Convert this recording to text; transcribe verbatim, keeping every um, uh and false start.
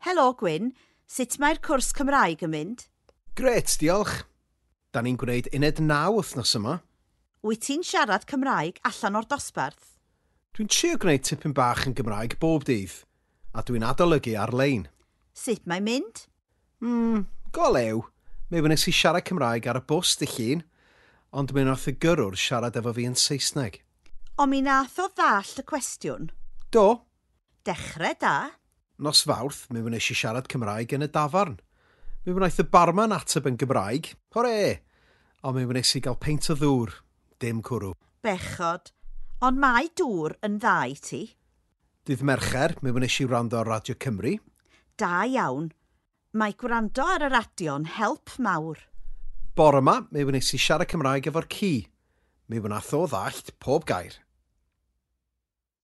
Helo, Gwyn. Sut mae'r cwrs Cymraeg yn mynd? Grêt, diolch. Da ni'n gwneud uned naw wythnos yma. Wyt ti'n siarad Cymraeg allan o'r dosbarth? Dwi'n trio gwneud tipyn bach yn Gymraeg bob dydd, a dwi'n adolygu ar-lein. Sut mae'n mynd? Hmm, go lew. Mi wnes i siarad Cymraeg ar y bws dydd Llun, ond mi wnaeth y gyrrwr siarad efo fi yn Saesneg. Ond mi nath o ddallt y cwestiwn. Do. Dechrau da. Nos Fawrth, mi wnes i siarad Cymraeg yn y dafarn. Mi wnaeth y barman ateb yn Gymraeg. Hwre! Ond mi wnes i gael peint o ddŵr, dim cwrw. Bechod. Ond mae dŵr yn dda i ti. Dydd Mercher, mi wnes i wrando ar Radio Cymru. Da iawn. Mae gwrando ar y radio'n help mawr. Bore yma, mi wnes i siarad Cymraeg efo'r ci. Mi wnaeth o ddallt pob gair.